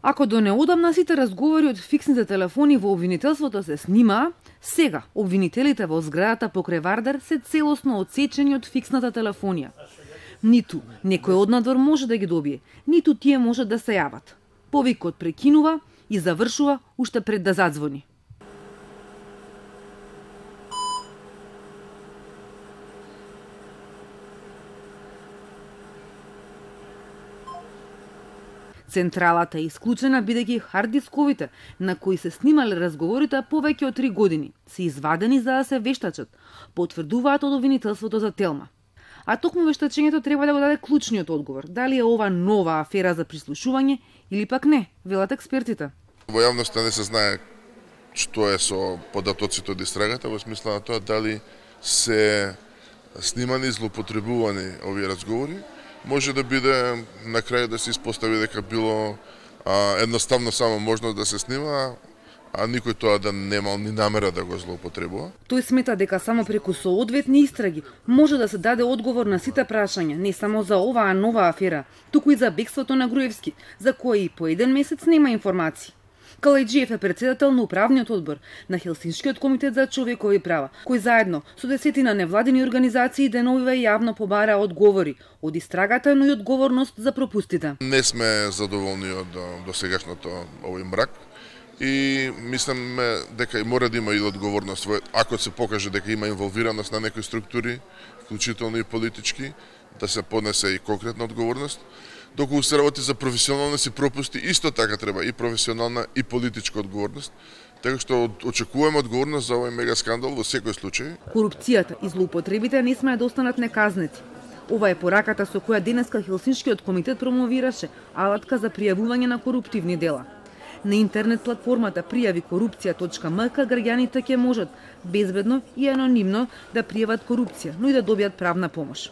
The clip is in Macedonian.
Ако до неодамна сите разговори од фиксните телефони во обвинителството се снимаа, сега обвинителите во зградата покрај Вардар се целосно отсечени од фиксната телефонија. Ниту некој однадвор може да ги добие, ниту тие можат да се јават. Повикот прекинува и завршува уште пред да задзвони. Централата е исклучена бидејќи харддисковите на кои се снимале разговорите повеќе од 3 години се извадени за да се вештачат, потврдуваат од обвинителството за Телма. А токму вештачењето треба да го даде клучниот одговор, дали е ова нова афера за прислушување или пак не, велат експертите. Во јавноста не се знае што е со податоците од истрагата, во смисла на тоа дали се снимани и злоупотребувани овие разговори. Може да биде на крај да се испостави дека било едноставно само можно да се снима, а никој тоа да немал ни намера да го злоупотребува. Тој смета дека само преку соодветни истраги може да се даде одговор на сите прашања, не само за оваа нова афера, туку и за бегството на Груевски, за кој и по 1 месец нема информации. Калајджиев е председател на управниот одбор на Хелсиншкиот комитет за човекови права, кој заедно со десетина невладини организации деновиве јавно побара одговори од истрагата, но и одговорност за пропустите. Не сме задоволни од досегашното овој мрак и мислиме дека и мора да има и одговорност ако се покаже дека има инволвираност на некои структури, вклучително и политички, да се поднесе и конкретна одговорност. Доколку се работи за професионалност и пропусти, исто така треба и професионална и политичка одговорност. Така што очекуваме одговорност за овој мега скандал во секој случај. Корупцијата и злоупотребите не смеат да останат неказнети. Ова е пораката со која денеска Хелсиншкиот комитет промовираше алатка за пријавување на коруптивни дела. На интернет платформата пријавикорупција.мк граѓаните ќе можат безбедно и анонимно да пријават корупција, но и да добијат правна помош.